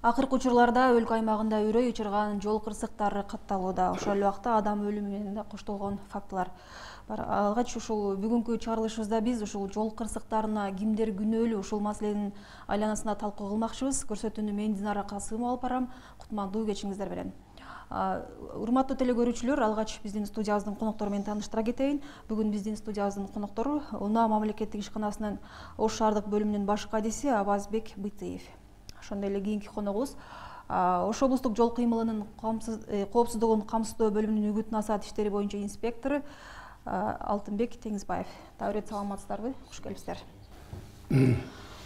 Акыркы учурларда өлкө аймагында үрөй учурган жол кырсыктары катталууда. Ошол эле убакта адам өлүмү менен да коштолгон фактылар бар. Алгач ушул бүгүнкү чыгарылышыбызда биз ушул жол кырсыктарына кимдер күнөөлүү ушул маселенин айланасында талкуу кылмакчыбыз. Көрсөтүүнү мен Динара Касымова алып барам. Кутмандуу кечиңиздер менен. Урматтуу теле көрүүчүлөр, алгач биздин студиябыздын коноктору менен тааныштыра кетейин. Бүгүн биздин студиябыздын коноктору Унаа мамлекеттик ишканасынын Ош шаардык бөлүмүнүн баш кадиси Абазбек Бытыев. Ошондой эле кийинки коногубуз Ош облустук жол кыймылынын коопсуздугун камсыздоо бөлүмүнүн үгүт насаат иштери боюнча инспектору Алтынбек Теңизбаев. Дагы ирет саламатсыздарбы? Куш келипсиздер.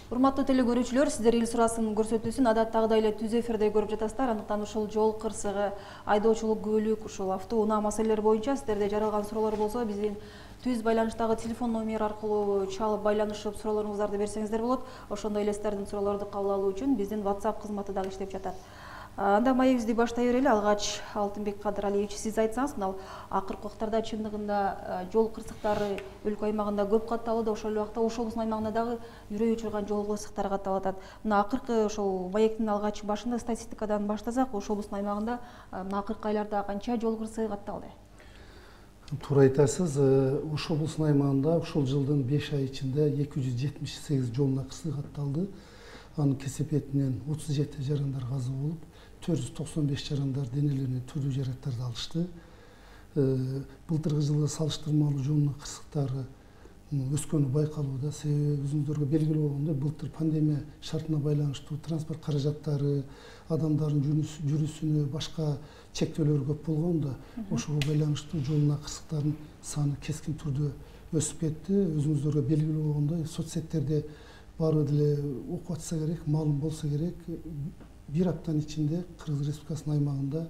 Урматтуу теле көрүүчүлөр, сиздер эл сурасын көрсөтүүсүн адаттагыдай эле түз эфирде көрүп жатасыздар. Андыктан ушул жол кырсыгы, айдоочулук күбөлүк, ушул автоунаа маселелери боюнча сиздерде жаралган суроолор болсо, биздин түз байланыштагы телефон номер аркылуу чалып байланышып суроолоруңуздарды берсеңиздер болот. Ошондой эле сиздердин суроолорду кабыл алуу үчүн биздин WhatsApp кызматы дагы иштеп жатат. Анда маегибизди баштай берели. Алгач Алтынбек Кадыралиевич, сиз айтсаңыз, мына акыркы убактарда чындыгында жол кырсыктары өлкө аймагында көп катталууда. Ошол эле убакта Ош облусунун аймагында дагы үрөй учурган жол кырсыктары катталып атат. Мына акыркы ошол маектин алгач башында статистикадан баштасак, Ош облусунун аймагында мына акыркы айларда канча жол кырсыгы катталды? Туура айтасыз. Ош облусунун аймагында ушул жылдын 5 ай ичинде 278 жол кырсыгы катталды. Анын кесепетинен 37 жарандар каза болуп, 495 жарандар денелерине түрдүү жаракаттарды алышты. Былтыркы жылга салыштырмалуу жол кырсыктары өскөнү байкалууда. Себеби өзүңүздөргө белгилүү болгондой, былтыр пандемия шартына байланыштуу транспорт каражаттары, адамдардын жүрүүсүнө башка чектөөлөр көп болгондо, ошого байланыштуу жол кырсыктарынын саны кескин түрдө өсүп кетти. Өзүңүздөргө белгилүү болгондой, соцсеттерде баары деле окуп атса керек, маалым болсо керек. Bir аптанын ичинде Кыргыз Республикасынын аймагында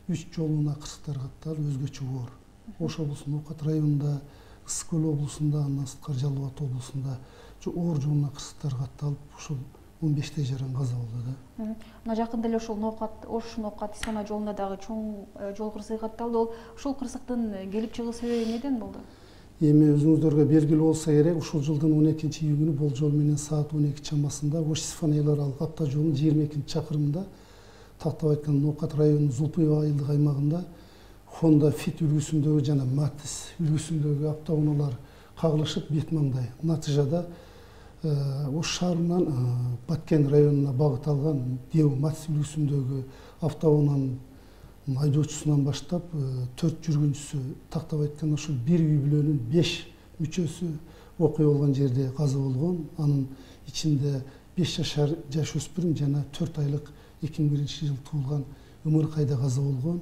3 жол кырсыктары катталып, өзгөчө оор. Ош облусунун Окат районунда, Ысык көл облусунда, андан сырткары Жалал Абад облусунда оор жол кырсыктары катталып, ушул 15 жаран каза болду да. Мына жакында эле ушул Ош Ноокат Исана жолунда дагы чоң жол кырсыгы катталды. Ушул кырсыктын келип чыгуу себеби эмнеден болду? Эми өзүңүздөргө белгилүү болсо керек, ушул жылдын 12-июнү болжол менен саат 12 чамасында Ош-Сифан эл аралык авто жолунун 22 чакырымында, тактап айтканда Ноокат районунун Зулпуй айылдык аймагында Honda Fit үлгүсүндөгү жана Matiz үлгүсүндөгү автоунаалар кагылышып, бет маңдай. Натыйжада Ош шаарынан Баткен районуна багыт алган Дeu Matiz үлгүсүндөгү автоунаанын айдоочусунан баштап 4 жүргүнчүсү, тактап айтканда ошол бир үй бүлөнүн 5 мүчөсү окуя болгон жерде каза болгон. Анын ичинде 5 жашар жаш өспүрүм жана 4 айлык 2001 жыл туулган Ымыркайда каза болгон.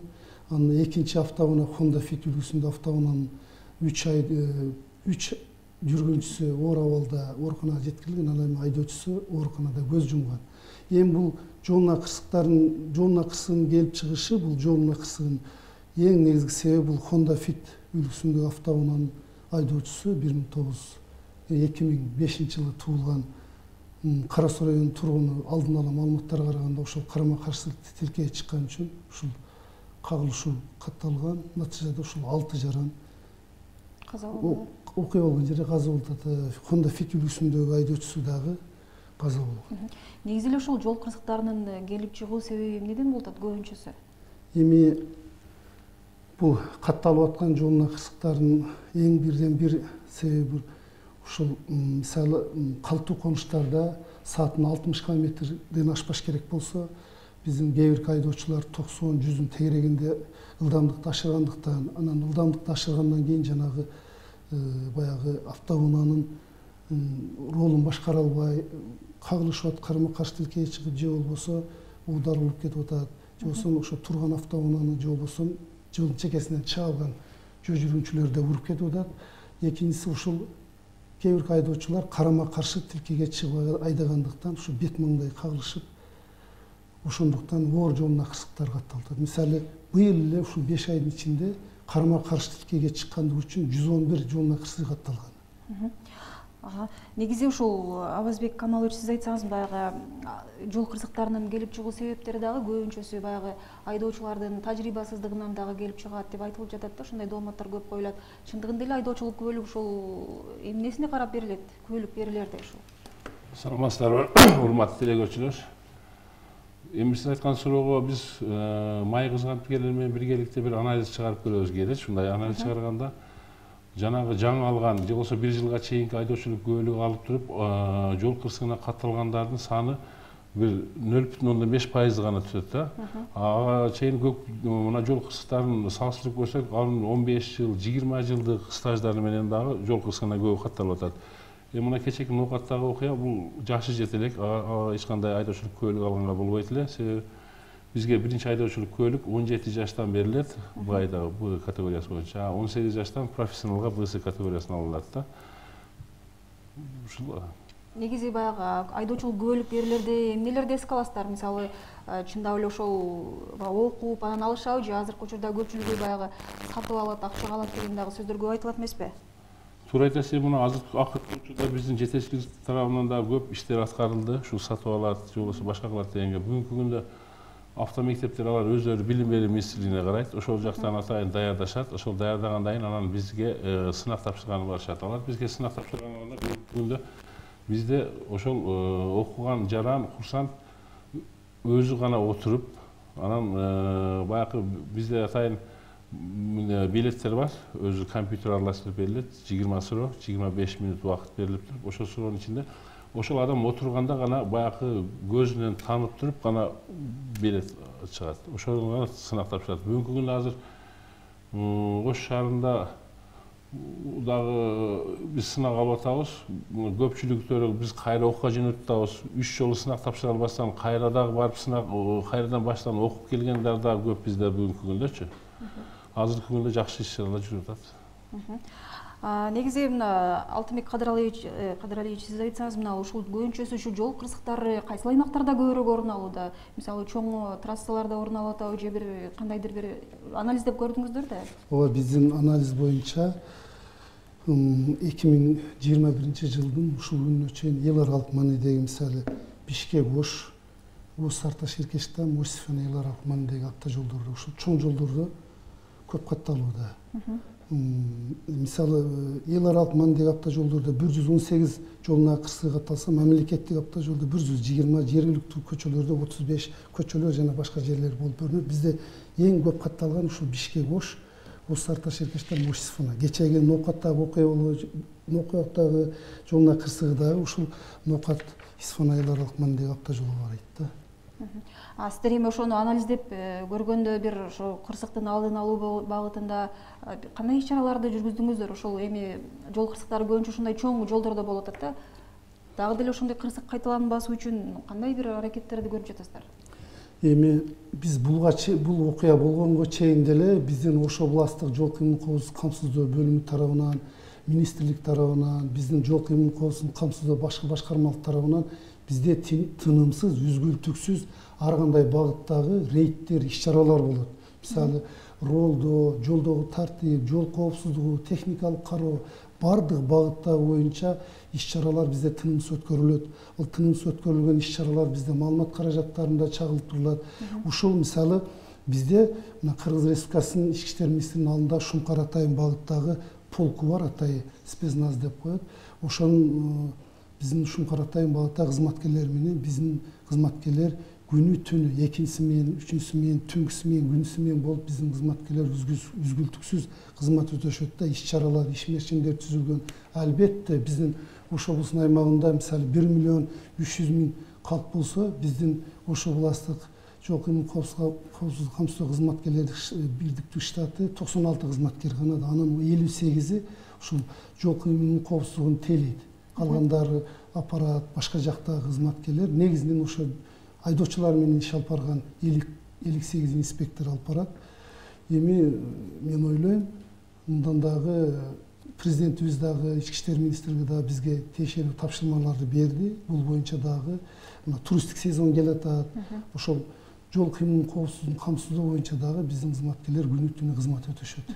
Анын экинчи автоунаа Honda Fit үлгүсүндө автоунаанын 3 жүргүнчүсү оор абалда ооруканага жеткирилген, ал эми айдоочусу ооруканада көз жумган. Эми бул жол кырсыгынын келип чыгышы, бул жол кырсыгынын эң негизги себеби бул Honda Fit үлгүсүндөгү автоунаанын айдоочусу 2005 жылы туулган Кара Суу районунун тургуну. Алдын ала маалыматтарга караганда ошол карама-каршылыкты тилкеге чыккан үчүн ушул кагылышуу катталган. Натыйжада ушул 6 жаран каза болду. Окуя болгон жерде каза болду. Honda Fit үлгүсүндөгү айдоочусу дагы каза болгон. Негизи эле ушул жол кырсыктарынын келип чыгуу себеби эмнеден болот көбүнчөсү? Эми бул катталып аткан жол кырсыктарынын эң бирден бир себеби ушул мисалы калтуу конуштарда саатына 60 км ашпаш керек болсо, биздин кээ бир айдоочулар 90-100 тегерегинде ылдамдыкты ашыргандыктан, анан ылдамдыкты ашыргандан кийин жанагы баягы автоунаанын ролун башкара албай кагылышып, карама-каршы тилкеге чыгып, же болбосо уударылып кетип атат, же болбосо ошо турган автоунааны, же болбосо жолдун чекесинен чыга алган жөө жүргүнчүлөрдү уруп кетип атат. Экинчиси ушул кээ бир айдоочулар карама-каршы тилкеге чыгып айдагандыктан ушу бет маңдай кагылышып, ошондуктан оор жол кырсыктары катталды. Мисалы, быйыл эле ушул 5 айдын ичинде карама-каршы тилкеге чыккандыгы үчүн 111 жол кырсыгы катталган. Негизи ушул Абазбек Камалович, сиз айтсаңыз, баягы жол кырсыктарынын келип чыгуу себептери дагы көбүнчөсү баягы айдоочулардын тажрыйбасыздыгынан дагы келип чыгат деп айтылып жатат да, ошондой дооматтар көп коюлат. Чындыгында эле айдоочулук күбөлүк ушул эмнесине карап берилет? Күбөлүк берилерди ушул. Саламатсыздарбы, урматтуу теле көрүүчүлөр. Эми сиз айткан суроого биз май кызматкерлери менен биргеликте бир анализ чыгарып көрөбүз керек. Ушундай анализ чыгарганда жанагы жаңы алган же болбосо 1 жылга чейинки айдоочулук күбөлүгү алып туруп жол кырсыгына катталгандардын саны бир 0,5% гана түшөт да. Ага чейин мына жол кырсыктарын салыштырып көрсөк, анын 15 жыл, 20 жылдык стаждары менен дагы жол кырсыгына көп катталып атат. Мына кечээки Ноокаттагы окуя бул жашы жете элек, эч кандай айдоочулук күбөлүгү алганга болбойт эле. Себеби бизге биринчи айдоочулук күбөлүк 17 жаштан берилет, бул айдагы Б категориясы боюнча. 18 жаштан профессионалга БС категориясына алынат да. Ушул негизи баягы айдоочулук күбөлүк берилерде эмнелерди эске аласыздар? Мисалы, чындап эле ошол окуп анан алышабы же азыркы учурда көпчүлүгү баягы сатып алат, акчага алат деген дагы сөздөр көп айтылат эмеспи? Туура айтасыз. Мына акыркы учурда биздин жетекчилик тарабынан да көп иштер аткарылды. Ушул сатып алат, же болбосо башка кылат дегенге. Бүгүнкү күндө автомектептер алар өзүлөрү билим берүү министрлигине карайт. Ошол жактан атайын даярдашат. Ошол даярдагандан кийин анан бизге сынак тапшырганы барышат. Алар бизге сынак тапшырганда бүгүнкү күндө бизде ошол окуган жаран курсант өзү гана отуруп, анан баягы бизде атайын билеттер бар, өзү компьютер аралаштырып берилет, 20 суроо, 25 мүнөт убакыт берилип туруп, ошол суроонун ичинде ошол адам отурганда гана баягы көзүнөн таанып туруп гана билет чыгат. Ошол гана сынак тапшырат. Бүгүнкү күндө азыр Ош шаарында дагы биз сынак алып атабыз. Көпчүлүктөрү биз кайра окууга жөнөтүп атабыз. 3 жолу сынак тапшыра албастан кайра дагы барып сынак кайрадан баштан окуп келгендер дагы көп бизде бүгүнкү күндөчү. Азыркы күндө жакшы иш-чаралар жүрүп атат. Негизи мына Алтынбек Кадыралиевич, сиз айтсаңыз, мына ушул көбүнчөсү ушу жол кырсыктары кайсыл аймактарда көбүрөөк орун алууда? Мисалы, чоң трассаларда орун алып атабы же бир кандайдыр бир анализдеп көрдүңүздөр да? Ооба, биздин анализ боюнча 2021 жылдын ушул күнүнө чейин эл аралык маанидеги, мисалы, Бишкек Ош, Сарташ Эркештам, Ош Сифан эл аралык маанидеги автожолдордо, ушул чоң жолдордо көп катталууда. Мисалы, эл аралык маанидеги автожолдордо 118 жолуна кырсыгы катталса, мамлекеттик автожолдо 120, жергиликтүү көчөлөрдө 35 көчөлөр жана башка жерлер болуп көрүнөт. Бизде эң көп катталган ушул Бишкек Ош, Сарташ Эркештам, Ош Сифан. Кечээги Ноокаттагы Ноокаттагы жолуна кырсыгы дагы ушул Ноокат Сифан эл аралык маанидеги автожолго карайт да. Сиздер эми ошону анализдеп көргөндө бир ошо кырсыктын алдын алуу багытында кандай иш-чараларды жүргүздүңүздөр? Ошол эми жол кырсыктары көбүнчө ушундай чоң жолдордо болуп атат да. Дагы деле ошондой кырсык кайталанбас үчүн кандай бир аракеттерди көрүп жатасыздар? Эми биз бул окуя болгонго чейин деле биздин Ош областтык жол кыймыл коопсуздук камсыздоо бөлүмү тарабынан, министрлик тарабынан, биздин жол кыймыл коопсуздук камсыздоо башкы башкармалык тарабынан бизде тынымсыз, үзгүлтүксүз ар кандай багыттагы рейдтер, иш-чаралар болот. Мисалы, ролдо, жолдогу тартип, жол коопсуздугу, техникалык кароо, бардык багыттар боюнча иш-чаралар бизде тынымсыз өткөрүлөт. Ал тынымсыз өткөрүлгөн иш-чаралар бизде маалымат каражаттарында чагылтырылат. Ушул мисалы бизде мына Кыргыз Республикасынын Ички иштер министринин алдында Шумкар Атайын багыттагы полку бар, Атай спецназ деп коет. Ошонун биздин Шумкар Атайын багыттагы кызматкерлер менен биздин кызматкерлер күнү түнү, экинчиси менен, үчүнчүсү менен, түнкүсү менен, күнүсү менен болуп биздин кызматкерлер үзгүлтүксүз кызмат өтөшөт да, иш-чаралар, ишмерчимдер түзүлгөн. Албетте биздин Ош облусунун аймагында мисалы 1,3 миллион калк болсо, биздин Ош областтык жол кыймыл коопсуздук камсыздоо кызматкерлердин бирдиктүү штаты 96 кызматкер гана да. Анын 58-и ушул жол кыймыл коопсуздугун тейлейт. Калгандары аппарат, башка жактагы кызматкерлер негизинен ошо айдоочулар менен иш алып барган 58 инспектор алып барат. Эми мен ойлойм, мындан дагы президентибиз дагы, Ички иштер министрлиги дагы бизге тиешелүү тапшырмаларды берди. Бул боюнча дагы туристтик сезон келатат. Ошол жол кыймыл коопсуздугун камсыздоо боюнча дагы биздин кызматкерлер күнү түнү кызмат өтөшөт.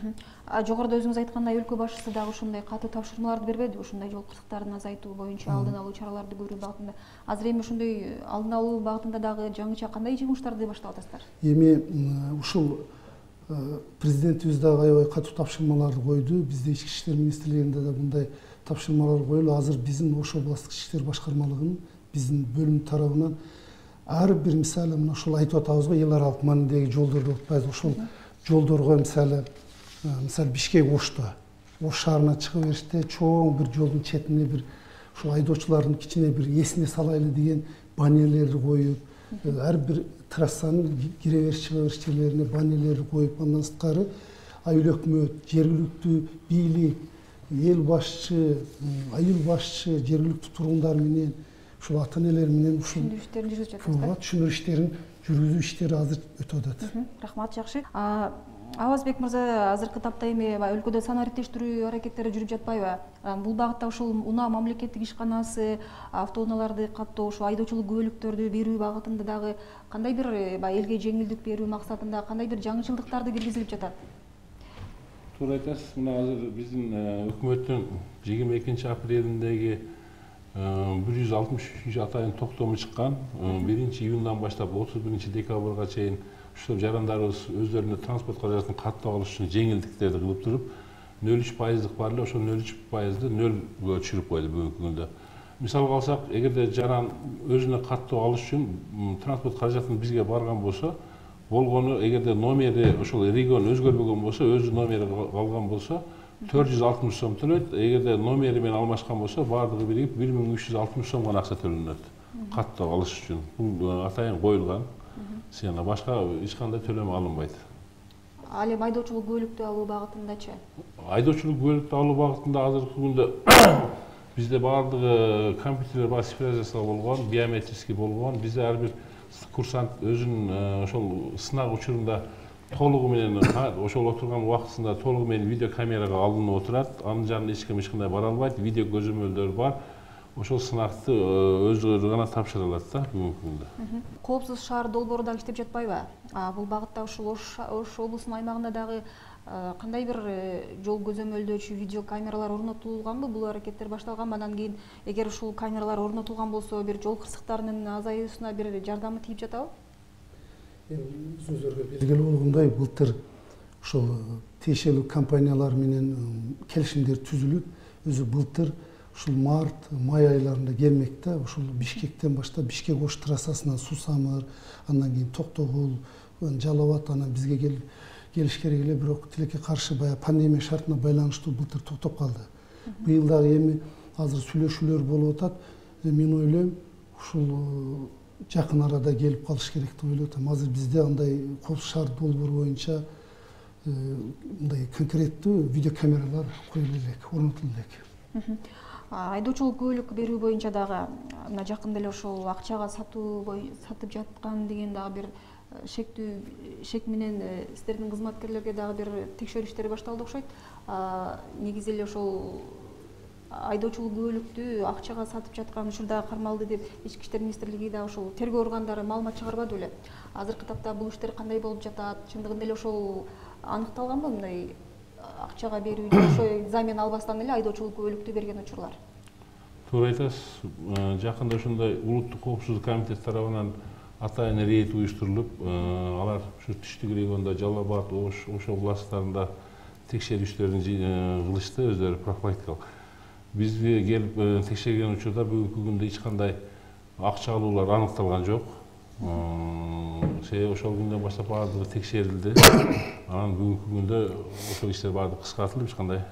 Жогоруда өзүңүз айткандай, өлкө башчысы дагы ушундай катуу тапшырмаларды бербеди, ушундай жол кырсыктарын азайтуу боюнча алдын алуу чараларды көрүү багытында. Азыр эми ушундай алдын алуу багытында дагы жаңыча кандай жумуштарды баштап атасыздар? Эми ушул президентибиз дагы аябай катуу тапшырмаларды койду. Бизде Ички иштер министрлигинде да мындай тапшырмалар коюлду. Азыр биздин Ош областтык ички иштер башкармалыгынын биздин бөлүм тарабынан ар бир мисалы мына ушул айтып атабыз го, эл аралык маанидеги жолдорду атпайбыз. Ушул жолдорго мисалы Бишкек Ошто, Ош шаарына чыга бериште чоң бир жолдун четине бир ушул айдоочулардын кичине бир эсине салайлы деген баннерлерди коюп, ар бир трассанын кире бериш чыга бериш жерлерине баннерлерди коюп, андан сырткары айыл өкмөт, жергиликтүү бийлик, эл башчы, айыл башчы, жергиликтүү тургундар менен, ушул ата-энелер менен ушул түшүндүрүү иштерин жүргүзүп жатасыздар. Түшүндүрүү иштерин жүргүзүү иштери азыр өтүп атат. Рахмат, жакшы. Авазбек мырза, азыркы тапта эми өлкөдө сан ареттештирүү аракеттери жүрүп жатпайбы? Бул багытта ушул унаа мамлекеттик ишканасы автоунааларды каттоо, ушу айдоочулук күбөлүктөрдү берүү багытында дагы кандай бир элге жеңилдик берүү максатында кандай бир жаңычылдыктарды киргизилип жатат? Туура айтасыз. Мына азыр биздин өкмөттүн 22 апрелиндеги 163 атайын токтому чыккан. 1 июндан баштап 31 декабрга чейин ушул жарандарыбыз өздөрүнө транспорт каражатын каттап алыш үчүн жеңилдиктерди кылып туруп, 0,3% бар эле, ошол 0,3%ды 0га түшүрүп койду бүгүнкү күндө. Мисалга алсак, эгерде жаран өзүнө каттоо алыш үчүн транспорт каражатын бизге барган болсо, болгону эгерде номери ошол регион өзгөрбөгөн болсо, өзү номери калган болсо 460 сом төлөйт. Эгерде номери менен алмашкан болсо, баардыгы биригип 1360 сом гана акча төлөнөт. Каттоо алыш үчүн. Бул атайын коюлган. Сена башка эч кандай төлөм алынбайт. Ал эми айдоочулук күбөлүктү алуу багытындачы? Айдоочулук күбөлүктү алуу багытында азыркы күндө бизде баардыгы компьютерлер бар, цифровизация болгон, биометрический болгон. Бизде ар бир курсант өзүнүн ошол сынак учурунда толугу менен ошол отурган убактысында толугу менен видео камерага алынып отурат. Анын жанына эч ким эч кандай бара албайт. Видео көзөмөлдөр бар. Ошол сынакты өзүлөрү гана тапшыра алат да бүгүнкү күндө. Коопсуз шаар долбоору дагы иштеп жатпайбы? Бул багытта ушул Ош облусунун аймагында дагы кандай бир жол көзөмөлдөөчү видео камералар орнотулганбы? Бул аракеттер башталганбы? Андан кийин эгер ушул камералар орнотулган болсо, бир жол кырсыктарынын азаюусуна бир жардамы тийип жатабы? Өзүңүзгө белгилүү болгондой, былтыр ушул тиешелүү компаниялар менен келишимдер түзүлүп, өзү былтыр ушул март, май айларында келмек да, ушул Бишкектен баштап Бишкек Ош трассасынан Сусамыр, андан кийин Токтогул, Жалал Абад, анан бизге келиш керек эле, бирок тилекке каршы баягы пандемия шартына байланыштуу былтыр токтоп калды. Быйыл дагы эми азыр сүйлөшүүлөр болуп атат. Мен ойлойм, ушул жакын арада келип калыш керек деп ойлоп атам. Азыр бизде андай коопсуз шаар долбоору боюнча мындай конкреттүү видео камералар коюлу элек, орнотулу элек. Айдоочулук күбөлүк берүү боюнча дагы мына жакында эле ошол акчага сатып жаткан деген дагы бир шек менен сиздердин кызматкерлерге дагы бир текшерүү иштери башталды окшойт. Негизи эле ошол айдоочулук күбөлүктү акчага сатып жаткан учурда кармалды деп Ички иштер министрлиги да ошол тергөө органдары маалымат чыгарбады беле? Азыркы тапта бул иштер кандай болуп жатат? Чындыгында эле ошол аныкталганбы мындай акчага берүү же ошо замен албастан эле айдоочулук күбөлүктү берген учурлар? Туура айтасыз. Жакында ошондой улуттук коопсуздук комитет тарабынан атайын рейд уюштурулуп, алар ушу түштүк региондо Жалал Абад, Ош областтарында текшерүү иштерин кылышты, өздөрү профилактикалык. Бизге келип текшерген учурда бүгүнкү күндө эч кандай акча алуулар аныкталган жок. Ошол күндөн баштап баардыгы текшерилди. Анан бүгүнкү күндө ошол иштер баардыгы кыскартылып, эч кандай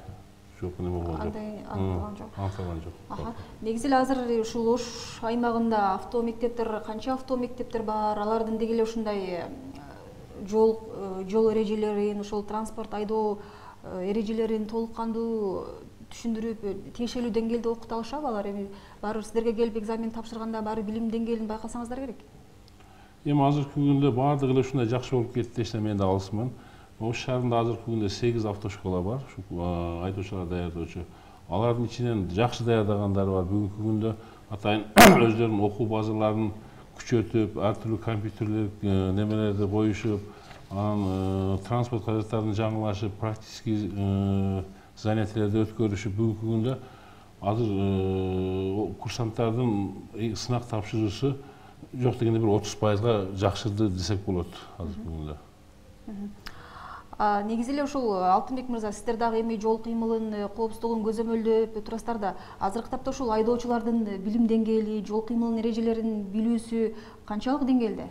жок неме болгон жок. Аныкталган жок. Негизи эле азыр ушул Ош аймагында автомектептер, канча автомектептер бар? Алардын деги эле ушундай жол эрежелерин, ошол транспорт айдоо эрежелерин толук кандуу түшүндүрүп, тиешелүү деңгээлде окута алышабы алар? Эми баары сиздерге келип экзамен тапшырганда баары билим деңгээлин байкасаңыздар керек. Эми азыркы күндө баардыгы эле ушундай жакшы болуп кетти десем мен да алысмын. Ош шаарында азыркы күндө 8 автошкола бар, айдоочулар даярдоочу. Алардын ичинен жакшы даярдагандары бар. Бүгүнкү күндө атайын өздөрүнүн окуу базаларын күчөтүп, ар түрдүү компьютерлик немелерди коюшуп, анан транспорт каражаттарын жаңылашып, практический занятиялерди өткөрүшүп, бүгүнкү күндө азыр курсанттардын сынак тапшыруусу жок дегенде бир 30%га жакшырды десек болот азыркы күндө. Негизи эле ушул Алтынбек мырза, сиздер дагы эми жол кыймылын коопсуздугун көзөмөлдөп турасыздар да, азыркы тапта ушул айдоочулардын билим деңгээли, жол кыймылынын эрежелерин билүүсү канчалык деңгээлде?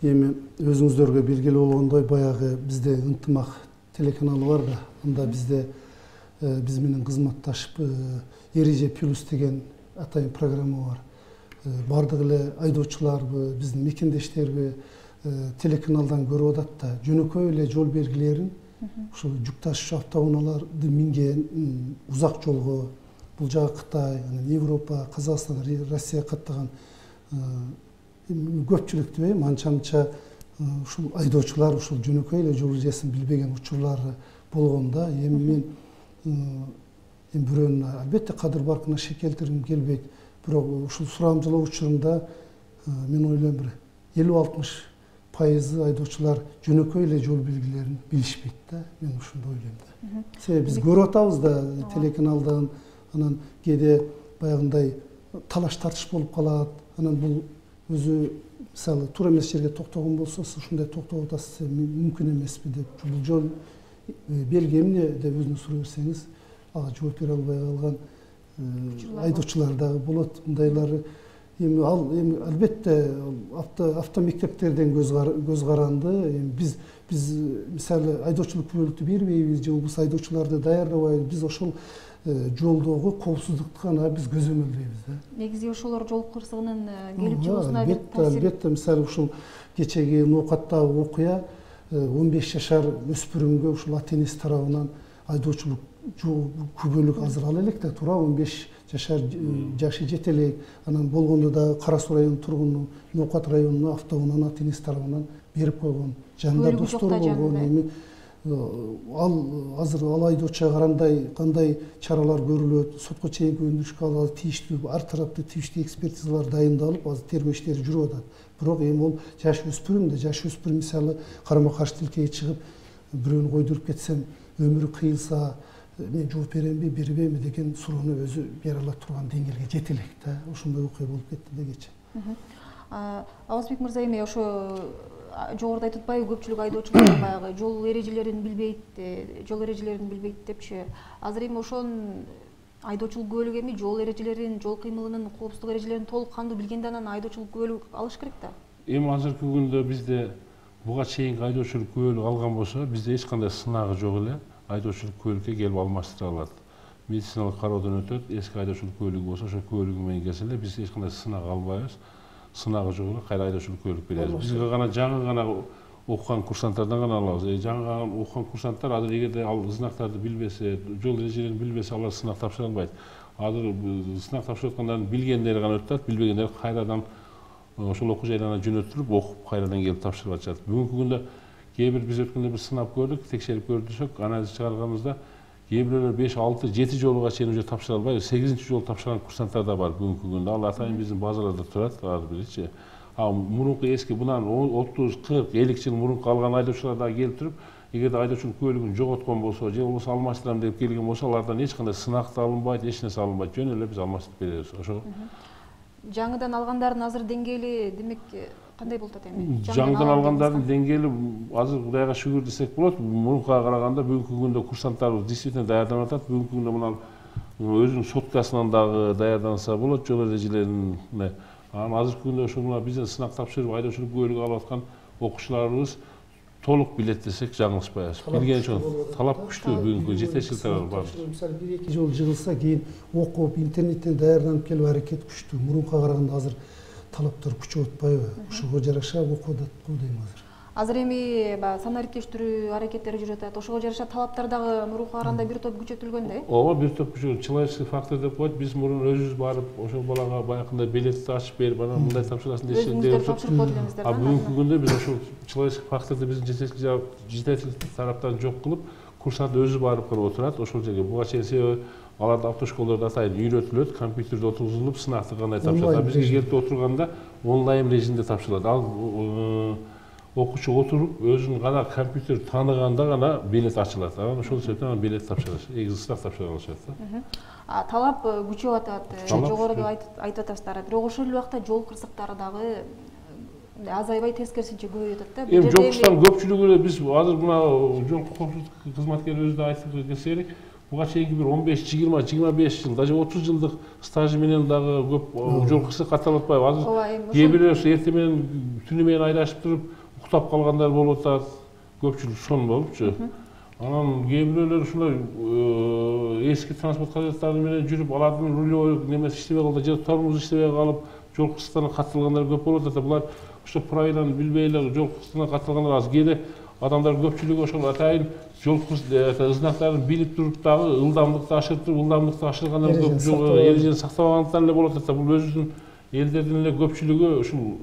Эми өзүңүздөргө белгилүү болгондой, баягы бизде ынтымак телеканалы бар да, анда бизде биз менен кызматташып Эреже плюс деген атайын программа бар. Бардык эле айдоочуларбы, биздин мекендештерби телеканалдан көрүп атат да, жөнөкөй эле жол белгилерин ушул жүк ташуучу автоунааларды минген узак жолго, бул жагы Кытай, анан Европа, Казакстан, Россия каттаган көпчүлүктүү анча-мынча ушул айдоочулар ушул жөнөкөй эле жол эрежесин билбеген учурлары болгон да. Эми мен бирөөнүн албетте кадыр баркына шек келтиргим келбейт, бирок ушул сурамжылоо учурунда мен ойлойм бир 50-60% айдоочулар жөнөкөй эле жол белгилерин билишпейт да. Мен ушунду ойлойм да. Себеби биз көрүп атабыз да телеканалдан, анан кээде баягындай талаш тартыш болуп калат. Анан бул өзү мисалы туура эмес жерге токтогон болсо, сиз ушундай токтоп атасыз, мүмкүн эмеспи деп, бул жол белги эмне деп өзүнө суроо берсеңиз, ага жооп бере албай калган айдоочулар дагы болот. Мындайлары эми албетте автомектептерден көз каранды. Эми биз мисалы айдоочулук күбөлүктү бербейбиз же болбосо айдоочуларды даярдабайбыз. Биз ошол жолдогу коопсуздукту гана биз көзөмөлдөйбүз да. Негизи ошолор жол кырсыгынын келип чыгуусуна бир таасир. Албетте, мисалы ушул кечеги ноокаттагы окуя 15 жашар өспүрүмгө ушул ата-энеси тарабынан айдоочулук күбөлүк азыр ала элек да, туура 15 жашар жашы жете элек. Анан болгондо да Кара Суу районунун тургуну Ноокат районуна автоунааны ата-энеси тарабынан берип койгон, жанында достор болгон. Эми азыр ал айдоочуга кандай чаралар көрүлөт, сотко чейинки өндүрүшкө алалы тийиштүү ар тараптуу тийиштүү экспертизалар дайындалып, азыр тергөө иштери жүрүп атат. Бирок эми ол жаш өспүрүм да, жаш өспүрүм мисалы карама каршы тилкеге чыгып бирөөнү койдуруп кетсем өмүрү кыйылса мен жооп беремби, бербеймби деген суроону өзү бере ала турган деңгээлге жете элек да. Ошондой окуя болуп кетти да кечээ. Абазбек мырза, эми ошо жогоруда айтып атпайбы, көпчүлүк айдоочулар баягы жол эрежелерин билбейт депчи. Азыр эми ошон айдоочулук күбөлүгү эми жол эрежелерин, жол кыймылынын коопсуздук эрежелерин толук кандуу билгенде анан айдоочулук күбөлүк алыш керек да. Эми азыркы күндө бизде буга чейинки айдоочулук күбөлүк алган болсо, бизде эч кандай сынагы жок эле айдоочулук күбөлүккө келип алмаштыра алат. Медициналык кароодон өтөт, эски айдоочулук күбөлүгү болсо, ошол күбөлүгү менен келсе эле биз эч кандай сынак албайбыз. Сынагы жок эле кайра айдоочулук күбөлүк беребиз. Бизге гана жаңы гана окуган курсанттардан гана алабыз. Жаңы окуган курсанттар азыр эгерде ал знактарды билбесе, жол эрежелерин билбесе, алар сынак тапшыра албайт. Азыр сынак тапшырып аткандардын билгендери гана өтүп атат, билбегендер кайрадан ошол окуу жайларына жөнөтүлүп, окуп кайрадан келип тапшырып атышат. Бүгүнкү күндө кээ бир биз өткөндө бир сынап көрдүк, текшерип көрдүк, анализ чыгарганыбызда кээ бирөөлөр 5, 6, 7 жолуга чейин уже тапшыра албай, 8-чи жолу тапшырган курсанттар да бар бүгүнкү күндө. Ал атайын биздин базаларда турат, ар биричи. Мурунку эски мындан 30, 40, 50 жыл мурунку алган айдоочулар да келип туруп, эгерде айдоочулук күбөлүгүн жоготкон болсо, же болбосо алмаштырам деп келген болсо, алардан эч кандай сынак да алынбайт, эч нерсе алынбайт. Жөн эле биз алмаштырып беребиз. Ошо. Жаңыдан алгандардын азыр деңгээли демек кандай болуп атат эми? Жаңыдан алгандардын деңгээли азыр Кудайга шүгүр десек болот. Мурункуга караганда бүгүнкү күндө курсанттарыбыз действительно даярданып атат. Бүгүнкү күндө мына өзүнүн соткасынан дагы даярданса болот жол эрежелерине. Анан азыркы күндө ошо мына бизден сынак тапшырып айдоочулук күбөлүгү алып аткан окуучуларыбыз толук билет десек жаңылышпайбыз. Билген үчүн талап күчтүү бүгүнкү жетекчилер бар. Мисалы 1-2 жол жыгылса, кийин окуп, интернеттен даярданып келип аракет күчтүү. Мурункуга караганда азыр талаптар күчүп атпайбы? Ошого жараша окуп атат го дейм азыр. Азыр эми санариптештирүү аракеттери жүрүп атат. Ошого жараша талаптар дагы мурункуга караганда бир топ күчөтүлгөн да? Ооба, бир топ күчөтүлгөн. Человеческий фактор деп коет. Биз мурун өзүбүз барып, ошол балага баягындай билетти ачып берип, анан мындай тапшырасың десек деп тапшырып коет элемиздер. Бүгүнкү күндө биз ошол человеческий факторду биздин жетекчилик тараптан жок кылып, курсант өзү барып кылып отурат ошол жерге. Буга чейин себеби аларды автошколдордо атайын үйрөтүлөт, компьютерде отургузулуп, сынакты кандай тапшырат. Бизге келип отурганда онлайн режимде тапшырылат. Ал окуучу отуруп, өзүнүн гана компьютер тааныганда гана билет ачылат. Анан ошол себептен билет тапшырат, сынак тапшыра алышат да. Талап күчөп атат, жогоруда айтып атасыздар. Бирок ошол эле убакта жол кырсыктары дагы азайбай тескерисинче көбөйүп атат да. Эми жол кырсыктардын көпчүлүгү эле биз азыр мына жол коопсуздук кызматкерибиз да айтып кетсе керек, буга чейинки бир 15-20-25 жыл, даже 30 жылдык стажы менен дагы көп жол кырсык катталып атпайбы? Азыр кээ бирөө эртең менен түнү менен айдашып туруп уктап калгандар болуп атат, көпчүлүк ошон болупчу. Анан кээ бирөөлөр ушулай эски транспорт каражаттары менен жүрүп, алардын рулевой немеси иштебей калды, же тормозу иштебей калып, жол кырсыктарына катталгандар көп болуп атат. Булар ошо правиланы билбей эле жол кырсыктарына катталгандар аз. Кээде адамдар көпчүлүгү ошол атайын жол знактарын билип туруп дагы ылдамдыкты ашырып туруп, ылдамдыкты ашыргандар көп, эрежени сактабагандыктан эле болуп атат. Бул өзүбүздүн элдердин эле көпчүлүгү ушул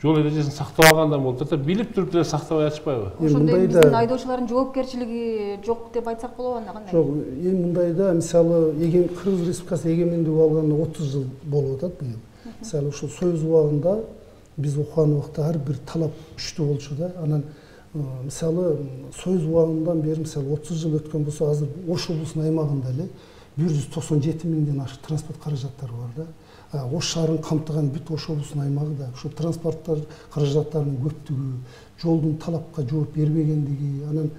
жол эрежесин сактабагандан болуп атат. Билип туруп деле сактабай атышпайбы? Ошондой биздин айдоочулардын жоопкерчилиги жок деп айтсак болобу анда кандай? Жок, эми мындайда мисалы Кыргыз Республикасы эгемендик алганына 30 жыл болуп атат быйыл. Мисалы ушул Союз убагында биз окуган убакта ар бир талап күчтүү болчу да. Анан мисалы Союз убагындан бери мисалы 30 жыл өткөн болсо, азыр Ош облусунун аймагында эле 197 миңден ашык транспорт каражаттары бар да. Ош шаарын камтыган бүт Ош облусунун аймагы да ушул транспорттар каражаттарынын көптүгү, жолдун талапка жооп бербегендиги, анан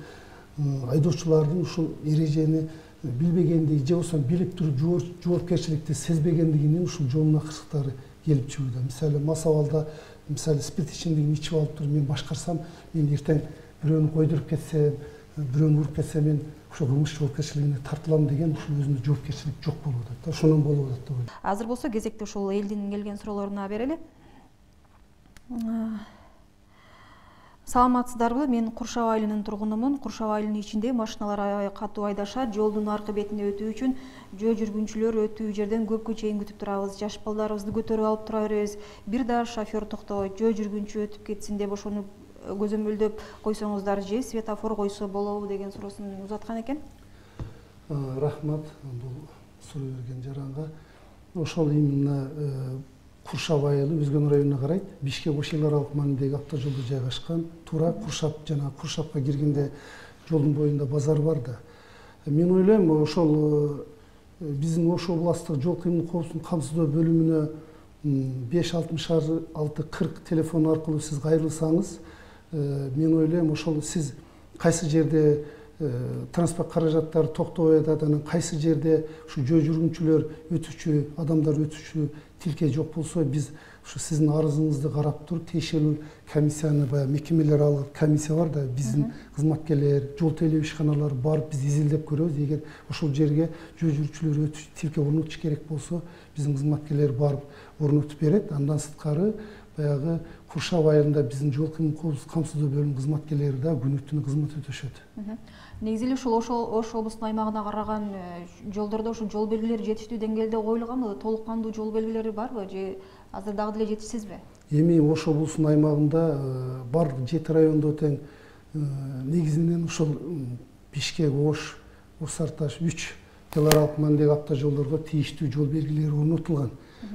айдоочулардын ушул эрежени билбегендиги же болбосо билип туруп жоопкерчиликти сезбегендигинен ушул жол кырсыктары келип чыгууда. Мисалы мас абалда мисалы спирт ичимдигин ичип алып туруп мен башкарсам, мен эртең бирөөнү койдуруп кетсем, бирөөнү уруп кетсем, мен ошо кылмыш жоопкерчилигине тартылам деген ушул өзүнө жоопкерчилик жок болуп атат да. Ошондон болуп атат деп ойлойм. Азыр болсо кезекте ушул элдин келген суроолоруна берели. Саламатсыздарбы? Мен Куршап айылынын тургунумун. Куршап айылынын ичинде машиналар катуу айдашат. Жолдун аркы бетине өтүү үчүн жөө жүргүнчүлөр өтүү жерден көпкө чейин күтүп турабыз. Жаш балдарыбызды көтөрүп алып тура беребиз. Бир да шофер токтобойт. Жөө жүргүнчү өтүп кетсин деп ошону көзөмөлдөп койсоңуздар же светофор койсо болобу деген суроосун узаткан экен. Рахмат бул суроо берген жаранга. Ошол именно Куршап айылы Өзгөн районуна карайт. Бишкек Ош эл аралык маанидеги автожолдо жайгашкан. Туура Куршап жана Куршапка киргенде жолдун боюнда базар бар да. Мен ойлойм, ошол биздин Ош областтык жол кыймыл коопсуздугун камсыздоо бөлүмүнө 56640 телефон аркылуу сиз кайрылсаңыз, мен ойлойм, ошол сиз кайсы жерде транспорт каражаттары токтобой атат, анан кайсы жерде ушу жөө жүргүнчүлөр өтүүчү, адамдар өтүүчү тилке жок болсо, биз ушу сиздин арызыңызды карап туруп, тиешелүү комиссияны, баягы мекемелер алган комиссия бар да, биздин кызматкерлер, жол тейлөө ишканалары барып биз изилдеп көрөбүз. Эгер ошол жерге жөө жүргүнчүлөр өтүүчү тилке орнотуш керек болсо, биздин кызматкерлер барып орнотуп берет. Андан сырткары баягы Куршап айылында биздин жол кыймыл коопсуздук камсыздоо бөлүмүнүн кызматкерлери да күнү-түнү кызмат өтөшөт. Негизи эле ушул Ош облусунун аймагына караган жолдордо ушул жол белгилери жетиштүү деңгээлде коюлганбы? Толук кандуу жол белгилери барбы же азыр дагы деле жетишсизби? Эми Ош облусунун аймагында бар 7 райондо тең негизинен ушул Бишкек, Ош, Осарташ 3 эл аралык маанидеги автожолдорго тийиштүү жол белгилери орнотулган.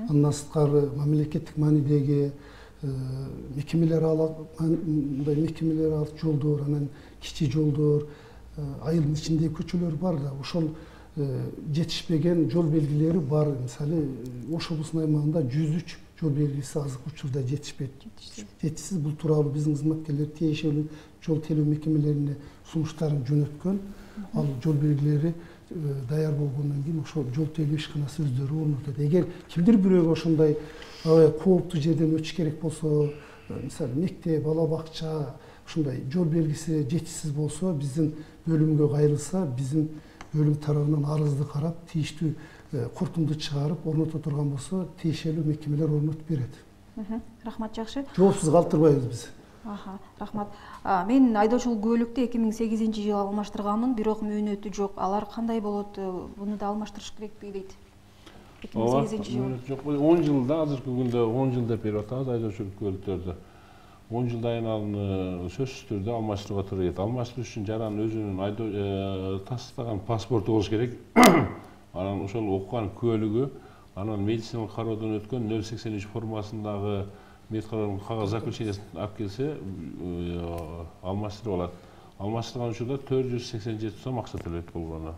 Андан сырткары мамлекеттик маанидеги мекемелер алат жолдор, анан кичи жолдор, айылдын ичиндеги көчөлөр бар да. Ошол жетишпеген жол белгилери бар. Мисалы Ош облусунун аймагында 103 жол белгиси азыркы учурда жетишпейт. Жетишсиз. Бул тууралуу биздин кызматкерлер тиешелүү жол тейлөө мекемелерине сунуштарын жөнөткөн. Ал жол белгилери даяр болгондон кийин ошол жол тейлөө ишканасы өздөрү орнотот. Эгер кимдир бирөөгө ошондой кооптуу жерден өтүш керек болсо, мисалы мектеп, бала бакча, ушундай жол белгиси жетишсиз болсо, биздин бөлүмгө кайрылса, биздин бөлүм тарабынан арызды карап, тийиштүү куртумду чыгарып орното турган болсо, тиешелүү мекемелер орнотуп берет. Рахмат, жакшы. Жоопсуз калтырбайбыз биз. Рахмат. Мен айдоочулук күбөлүктү 2008-жылы алмаштырганмын, бирок мөөнөтү жок. Алар кандай болот? Буну да алмаштырыш керекпи дейт. 2008-жылы. Жок, 10 жылда азыркы күндө 10 жыл деп берип атабыз айдоочулук күбөлүктөрдү. 10 жылдан кийин аны сөзсүз түрдө алмаштырууга туура келет. Алмаштыруу үчүн жаран өзүнүн тастаган паспорту болуш керек. Анан ошол окуган күбөлүгү, анан медициналык кароодон өткөн 083 формасындагы медкаралык кагаз заключениясын алып келсе, алмаштырып алат. алмаштырган учурда 487 сом акча төлөйт болгону.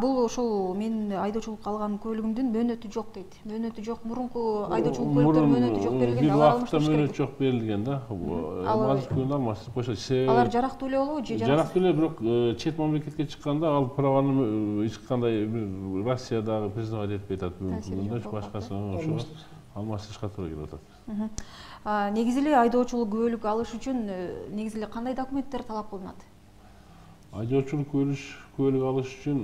Бул ошол мен айдоочулукка алган көлүгүмдүн мөөнөтү жок дейт. Мөөнөтү жок, мурунку айдоочулук көлүктөр мөөнөтү жок берилген, алар алмаштырыш керек. Мөөнөт жок берилген да. Азыркы күндө алмаштырып коюшат. Алар жарактуу эле болобу же жарактуу эле, бирок чет мамлекетке чыкканда ал праваны эч кандай Россиядагы признавать этпей атат бүгүнкү күндө, башкасы ошого алмаштырышка туура келип атат. Негизи эле айдоочулук күбөлүк алыш үчүн негизи эле кандай документтер талап кылынат? Айдоочулук күбөлүк алыш үчүн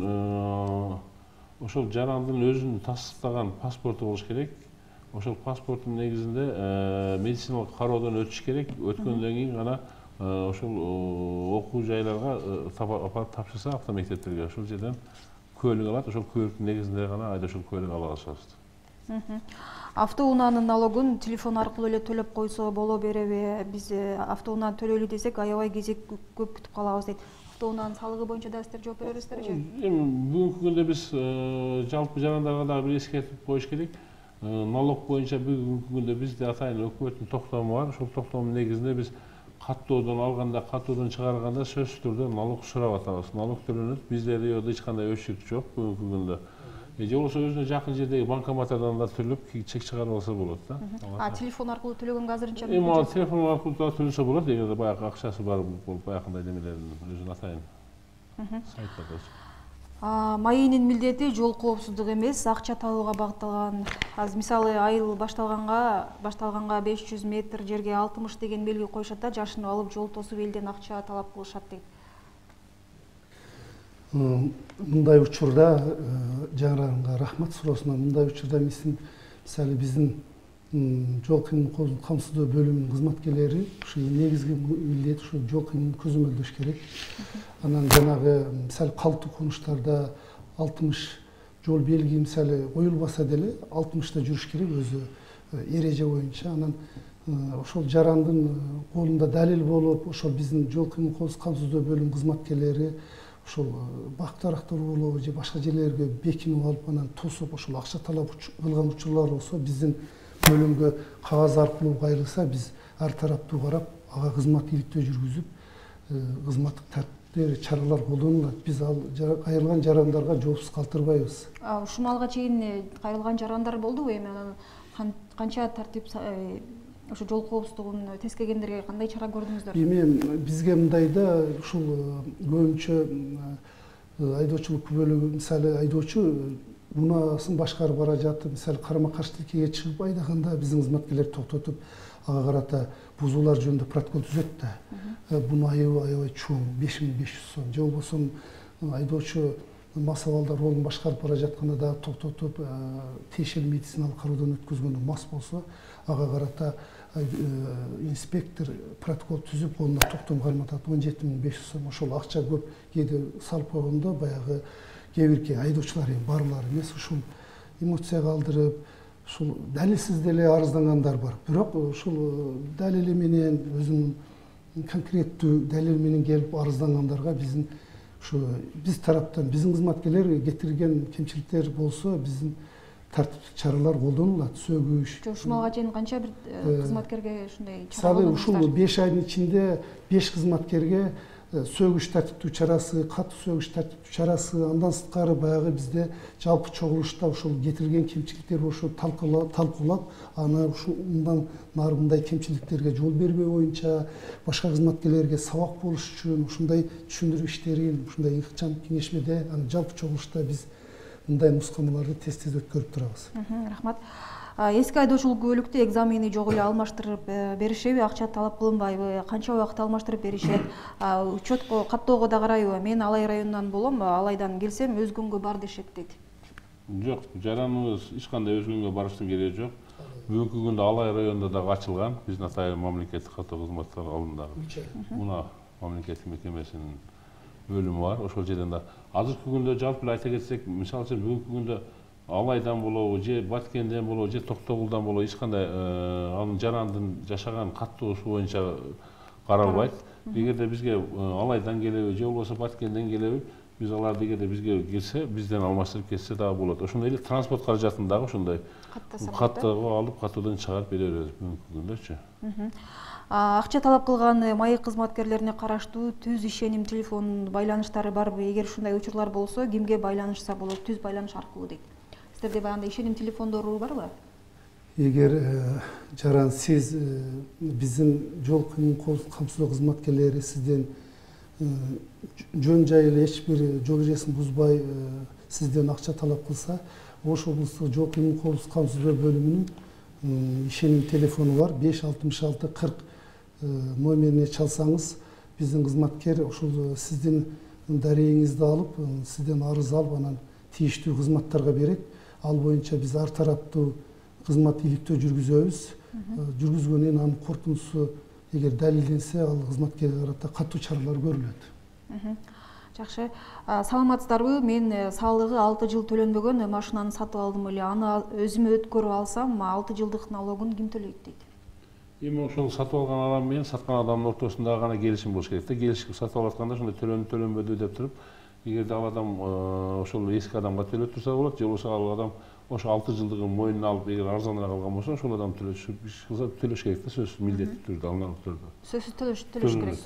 ошол жарандын өзүнүн тастыктаган паспорту болуш керек. Ошол паспорттун негизинде медициналык кароодон өтүш керек. Өткөндөн кийин гана ошол окуу жайларга апарып тапшырса автомектептерге, ошол жерден күбөлүк алат. Ошол күбөлүктүн негизинде гана айдоочулук күбөлүк ала алышат. Автоунаанын налогун телефон аркылуу эле төлөп койсо боло береби? Биз автоунаа төлөйлү десек, аябай кезек көп күтүп калабыз дейт. Автоунаанын салыгы боюнча да сиздер жооп беребизбер же? Эми бүгүнкү күндө биз жалпы жарандарга дагы бир эскертип коюш керек. Налог боюнча бүгүнкү күндө бизде атайын өкмөттүн токтому бар. Ошол токтомдун негизинде биз каттоодон алганда, каттоодон чыгарганда сөзсүз түрдө налог сурап атабыз. Налог төлөнөт. Bizde РИОдо эч кандай өчүрүк жок бүгүнкү күндө. Же болбосо өзүнө жакын жердеги банкоматтардан да төлөп чек чыгарып алса болот да. Телефон аркылуу төлөгөнгө азырынча эми телефон аркылуу да төлөсө болот, эгерде баягы акчасы бар болуп баягындай немелерин өзүнүн атайын сайттарда. МАИнин милдети жол коопсуздугу эмес, акча табууга багытталган. Азыр мисалы айыл башталганга 500 метр жерге 60 деген белги коюшат да, жашынып алып жол тосуп элден акча талап кылышат дейт. Мындай учурда жаңыраңга рахмат суроосуна, мындай учурда мисалы биздин жол кыймылын камсыздоо бөлүмүнүн кызматкерлери ушу негизги милдет ушу жол кыймылын көзөмөлдөш керек. Анан жанагы мисалы калктуу конуштарда 60 жол белги мисалы коюлбаса деле 60та жүрүш керек өзү эреже боюнча. Анан ошол жарандын колунда далил болуп, ошол биздин жол кыймылын камсыздоо бөлүмүнүн кызматкерлери ошол бак дарактар болобу же башка жерлерге бекинип алып анан тосуп ошол акча талап кылган учурлар болсо биздин бөлүмгө кагаз аркылуу кайрылса биз ар тараптуу карап ага кызмат иликтөө жүргүзүп кызматтык тартиптер чаралар колдонулат. Биз ал кайрылган жарандарга жоопсуз калтырбайбыз. Ушул алга чейин кайрылган жарандар болдубу? Эми анан канча тартип ошо жол коопсуздугун тескегендерге кандай чара көрдүңүздөр? Эми бизге мындай да ушул көбүнчө айдоочулук күбөлүгү мисалы айдоочу унаасын башкарып бара жатып мисалы карама каршы тилкеге чыгып айдаганда биздин кызматкерлер токтотуп ага карата бузуулар жөнүндө протокол түзөт да. Бунун айыбы аябай чоң 5500 сом. Же болбосо айдоочу мас абалда ролун башкарып бара жатканда дагы токтотуп тиешелүү медициналык кароодон өткөзгөндө мас болсо ага карата инспектор протокол түзүп колуна токтом карматат 17500 сом. Ошол акча көп кээде салып койгондо баягы кээ бирки айдоочулар эми барлары эмес ушул эмоция калтырып ушул далилсиз деле арыздангандар бар. Бирок ушул далили менен өзүнүн конкреттүү далил менен келип арыздангандарга биздин ушу биз тараптан биздин кызматкерлер кетирген кемчиликтер болсо биздин тартиптик чаралар колдонулат. Сөгүш. Ушуга чейин канча бир кызматкерге ушундай чара колдонулат? Ушул 5 айдын ичинде 5 кызматкерге сөгүш тартиптүү чарасы, катуу сөгүш тартиптүү чарасы, андан сырткары баягы бизде жалпы чогулушта ушул кетирген кемчиликтер ошо талкуулап, аны ушул мындан нары мындай кемчиликтерге жол бербөө боюнча башка кызматкерлерге сабак болуш үчүн ушундай түшүндүрүү иштерин ушундай ыкчам кеңешмеде аны жалпы чогулушта биз мындай нускамаларды тез өткөрүп турабыз. Рахмат. Эски айдоочулук күбөлүктү экзамени жок эле алмаштырып беришеби, акча талап кылынбайбы, канча убакытта алмаштырып беришет? Учетко каттоого да карайбы? Мен Алай районунан болом, Алайдан келсем өзгөнгө бар дешет дейт. Жок, жараныбыз эч кандай өзгөнгө барыштын кереги жок. Бүгүнкү күндө Алай районунда дагы ачылган биздин атайын мамлекеттик каттоо кызматтар алдындагы мына мамлекеттик мекемесинин бөлүмү бар. Ошол жерден да азыркы күндө жалпы эле айта кетсек, мисалы үчүн бүгүнкү күндө Алайдан болобу, же Баткенден болобу, же Токтогулдан болобу эч кандай анын жарандын жашаган каттоосу боюнча каралбайт. Эгерде бизге Алайдан келеби, же болбосо Баткенден келеби, биз аларды эгерде бизге келсе, бизден алмаштырып кетсе дагы болот. Ошондой эле транспорт каражатын дагы ошондой каттоого алып, каттоодон чыгарып бере беребиз бүгүнкү күндөчү. Акча талап кылган маек кызматкерлерине караштуу түз ишеним телефон байланыштары барбы? Эгер ушундай учурлар болсо, кимге байланышса болот? Түз байланыш аркылуу дейт. Сиздерде баягындай ишеним телефондору барбы? Эгер жаран сиз биздин жол кыймыл камсыздоо кызматкерлери сизден жөн жайы эч бир жол эрежесин бузбай сизден акча талап кылса, Ош облустук жол кыймыл камсыздоо бөлүмүнүн ишеним телефону бар, 566-40 номерине чалсаңыз, биздин кызматкер ошол сиздин дарегиңизди алып, сизден арыз алып, анан тийиштүү кызматтарга берет. Ал боюнча биз ар тараптуу кызмат иликтөө жүргүзөбүз. Жүргүзгөндөн анын корутундусу эгер далилденсе, ал кызматкерге карата катуу чаралар көрүлөт. Жакшы. Саламатсыздарбы? Мен салыгы 6 жыл төлөнбөгөн машинаны сатып алдым эле. Аны өзүмө өткөрүп алсам, 6 жылдык налогун ким төлөйт дейт? Эми ошол сатып алган адам менен саткан адамдын ортосунда гана келишим болуш керек да. Келишип сатып алып атканда ошондой төлөнбөдү деп туруп, эгерде ал адам ошол эски адамга төлөп турса болот, же болбосо ал адам ошо 6 жылдыгын мойнуна алып, эгер арзаныраак алган болсо, ошол адам төлөш керек да, сөзсүз милдеттүү түрдө, алган түрдө. Сөзсүз төлөш керек.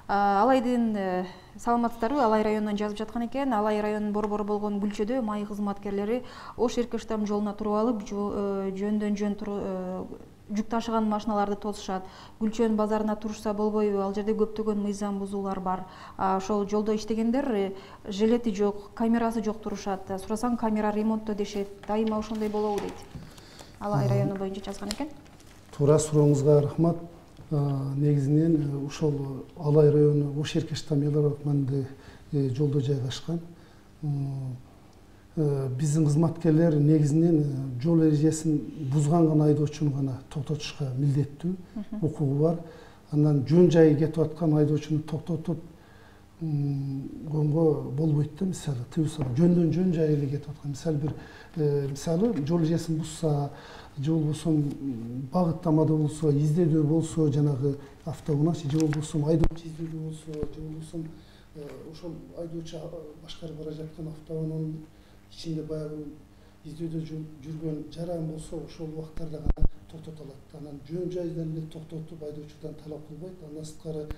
Алайдын саламатсыздарбы? Алай районунан жазып жаткан экен. Алай районунун борбору болгон Гүлчөдө маек кызматкерлери Ош Эркештам жолуна туруп алып, жөндөн жөн жүк ташыган машиналарды тосушат. Гүлчөн базарына турушса болбойбу? Ал жерде көптөгөн мыйзам бузуулар бар. Ошол жолдо иштегендер жилети жок, камерасы жок турушат. Сурасаң, камера ремонтто дешет. Дайыма ошондой болобу дейт. Алай району боюнча жазган экен. Туура сурооңузга рахмат. Негизинен ушол Алай району Ош Эркештам эл аралык маңды жолдо жайгашкан. Биздин кызматкерлер негизинен жол эрежесин бузган гана айдоочуну гана токтотушка милдеттүү, укугу бар. Андан жөн жайы кетип аткан айдоочуну токтотуп койгонго болбойт да. Мисалы, жөндөн жөн жайы эле кетип аткан. Мисалы, жол эрежесин бузса, же болбосо багыттамада болсо, издөөдө болсо, жанагы автоунаа, же болбосо айдоочу издөөдө болсо, же болбосо ошол айдоочу башкарып бара жаткан автоунаанын ичинде баягы издөөдө жүргөн жаран болсо, ошол убактарда гана токтотулат. Анан жөн жайдан эле токтотуп айдоочудан талап кылбайт. Андан сырткары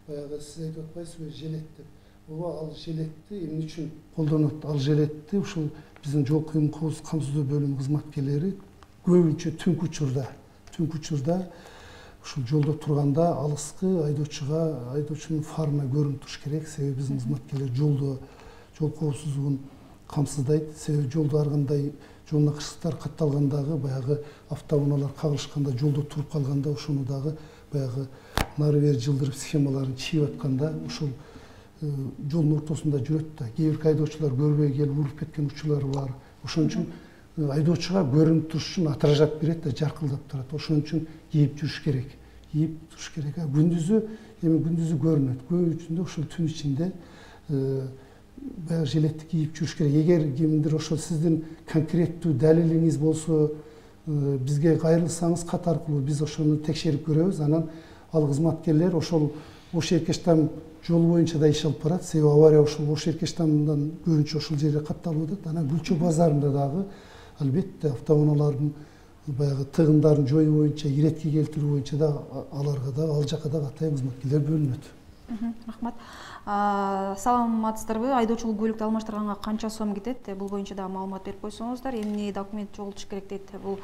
баягы сиз айтып атпайсызбы, желет деп. Ооба, ал желетти эмне үчүн колдонот? Ал желетти ушул биздин жол кыймыл камсыздоо бөлүмү кызматкерлери көбүнчө түнкү учурда ушул жолдо турганда алыскы айдоочунун фарына көрүнүп туруш керек. Себеби биздин кызматкерлер жол коопсуздугун камсыздайт. Себеби жолдо ар кандай жолуна кырсыктар катталгандагы баягы автоунаалар кагылышканда, жолдо туруп калганда ошону дагы баягы нары бери жылдырып схемаларын чийип атканда ошол жолдун ортосунда жүрөт да. Кээ бир айдоочулар көрбөй келип уруп кеткен учурлары бар. Ошон үчүн айдоочуга көрүнүп туруш үчүн отражат берет да, жаркылдап турат. Ошон үчүн кийип жүрүш керек. Күндүзү көрүнөт. Көбүнчөсүндө ошол түн ичинде баягы жилетти кийип жүрүш керек. Эгер кимдир ошол сиздин конкреттүү далилиңиз болсо, бизге кайрылсаңыз, кат аркылуу биз ошону текшерип көрөбүз. Анан ал кызматкерлер ошол Ош Эркештам жолу боюнча да иш алып барат. Себеби авария ошол Ош Эркештамдан көбүнчө ошол жерде катталып атат. Анан Гүлчө базарында дагы албетте автоунаалардын баягы тыгындарын жоюу боюнча, иретке келтирүү боюнча да аларга да, ал жака да атайын кызматкерлер бөлүнөт. Рахмат. Саламатсыздарбы? Айдоочулук көлүктү алмаштырганга канча сом кетет? Бул боюнча да маалымат берип койсоңуздар. Эмне документ чогултуш керек дейт. Бул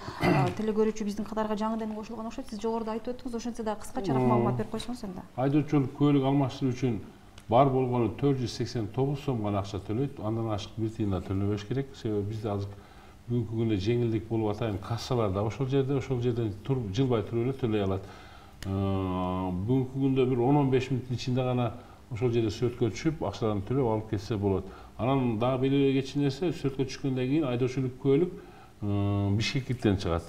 телекөрүүчү биздин катарга жаңыдан кошулган окшойт. Сиз жогоруда айтып өттүңүз, ошентсе да кыскачараак маалымат берип койсоңуз энди. Айдоочулук көлүк алмаштыруу үчүн бар болгону 489 сом гана акча төлөйт. Андан ашык бир тыйын да төлөбөш керек. Себеби бизде азыр бүгүнкү күндө жеңилдик болуп атайын, кассалар да ошол жерден жылбай туруп эле төлөй алат. Бүгүнкү күндө бир 10-15 мүнөттүн ичинде гана ошол жерде сөткө түшүп, акчаларын төлөп алып кетсе болот. Анан дагы бир кечи нерсе, сөткө түшкөндөн кийин айдоочулук көлүк Бишкектен чыгат.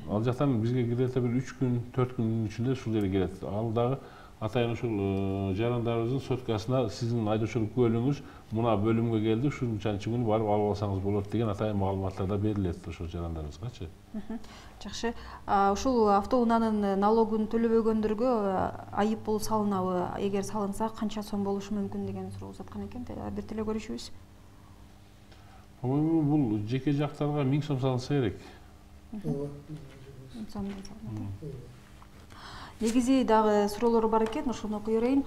Ал жактан бизге кирет бир 3 күн, 4 күндүн ичинде ушул жерге келет. Ал дагы атайын ушул жарандарыбыздын соткасына сиздин айдоочулук көлүгүңүз мына бөлүмгө келди, ушунчанчы күнү барып алып алсаңыз болот деген атайын маалыматтар да берилет ошол жарандарыбызгачы. Жакшы. Ушул автоунаанын налогун төлөбөгөндөргө айыппул салынабы? Эгер салынса, канча сом болушу мүмкүн деген суроо узаткан экен. Бир теле көрүүчүбүз. По-моему, бул жеке жактарга 1000 сом салынса керек. Ооба. Негизи дагы суроолор бар экен, ошону окуй берейин.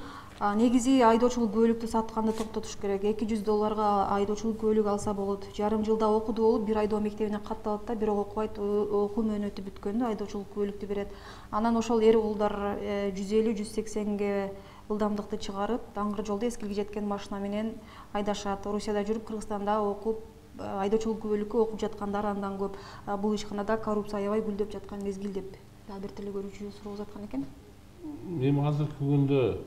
Негизи айдоочулук көлүктү сатканды токтотуш керек. $200 айдоочулук көлүк алса болот. Жарым жылда окуду болуп, бир айдоо мектебине катталат да, бирок окубайт, окуу мөөнөтү бүткөндө айдоочулук көлүктү берет. Анан ошол эр уулдар 150-180ге ылдамдыкты чыгарып, даңгыр жолдо эскилге жеткен машина менен айдашат. Орусияда жүрүп, Кыргызстанда окуп, айдоочулук көлүккө окуп жаткандар андан көп. Бул ишканада коррупция аябай гүлдөп жаткан мезгил деп дагы бир телекөрүүчү суроо жаткан экен. Эми азыркы күндө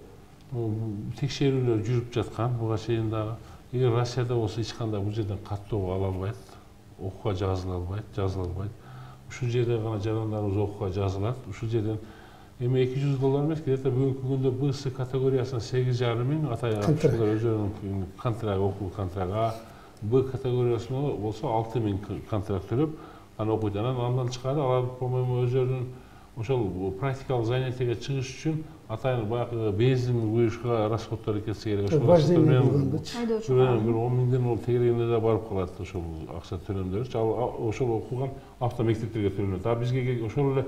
текшерүүлөр жүрүп жаткан, буга чейин дагы. Эгер Россияда болсо эч кандай бул жерден каттоо ала албайт, окууга жазыла албайт. Ушул жерде гана жарандарыбыз окууга жазылат. Ушул жерден эми $200 эмес, где-то бүгүнкү күндө БС категориясына 8,5 миң атайган өзүнүн контракт, окуу контракты. Б категориясына болсо 6 миң контракт төлөп, аны окуйт. Андан тышкары алар, по-моему, өзүнүн ошол практикалык занятиеге чыгыш үчүн атайын баягы бензин куюшка расходдор кетсе керек. Ошол расходдор менен бир 10 миңден ол тегерегинде да барып калат ошол акча төлөмдөрү. Ошол окуган автомектептерге төлөнөт. Бизге ошол эле